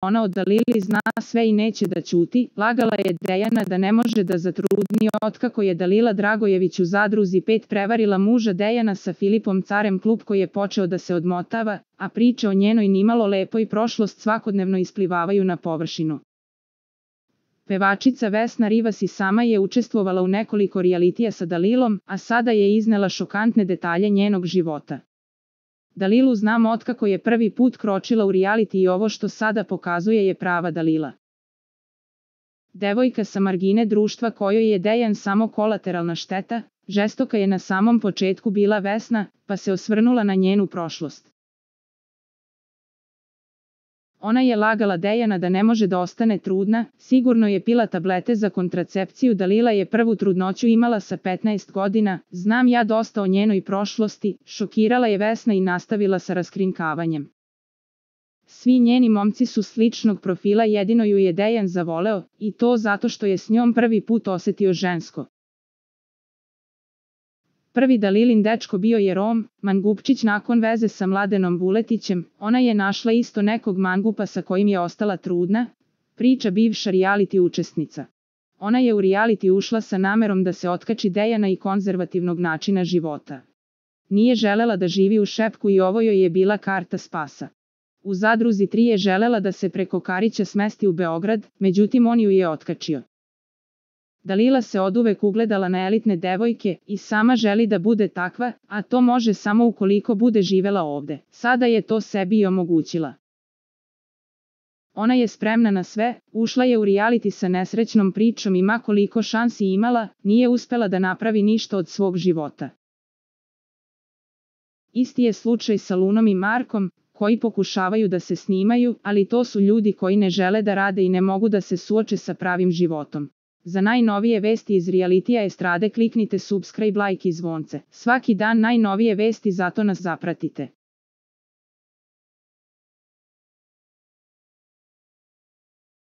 ona o Dalili zna sve i neće da ćuti, lagala je Dejana da ne može da zatrudni otkako je Dalila Dragojević u Zadruzi 5 prevarila muža Dejana sa Filipom Carem, klub koji je počeo da se odmotava, a priče o njenoj nimalo lepoj prošlost svakodnevno isplivavaju na površinu. Pevačica Vesna Rivas i sama je učestvovala u nekoliko rijalitija sa Dalilom, a sada je iznela šokantne detalje njenog života. Dalilu znam otkako je prvi put kročila u rijaliti i ovo što sada pokazuje je prava Dalila. Devojka sa margine društva kojoj je Dejan samo kolateralna šteta, žestoka je na samom početku bila Vesna, pa se osvrnula na njenu prošlost. Ona je lagala Dejana da ne može da ostane trudna, sigurno je pila tablete za kontracepciju. Dalila je prvu trudnoću imala sa 15 godina, znam ja dosta o njenoj prošlosti, šokirala je Vesna i nastavila sa raskrinkavanjem. Svi njeni momci su sličnog profila, jedino ju je Dejan zavoleo, i to zato što je s njom prvi put osetio žensko. Prvi Dalilin dečko bio je Rom, mangupčić. Nakon veze sa Mladenom Vuletićem, ona je našla isto nekog mangupa sa kojim je ostala trudna, priča bivša rijaliti učesnica. Ona je u rijaliti ušla sa namerom da se otkači Dejana i konzervativnog načina života. Nije želela da živi u Šepku i ovo joj je bila karta spasa. U Zadruzi 3 je želela da se preko Karića smesti u Beograd, međutim on ju je otkačio. Dalila se oduvek ugledala na elitne devojke i sama želi da bude takva, a to može samo ukoliko bude živela ovde. Sada je to sebi i omogućila. Ona je spremna na sve, ušla je u rijaliti sa nesrećnom pričom i ma koliko šansi imala, nije uspela da napravi ništa od svog života. Isti je slučaj sa Lunom i Markom, koji pokušavaju da se snimaju, ali to su ljudi koji ne žele da rade i ne mogu da se suoče sa pravim životom. Za najnovije vesti iz rijalitija estrade kliknite subscribe, like i zvonce. Svaki dan najnovije vesti, zato nas zapratite.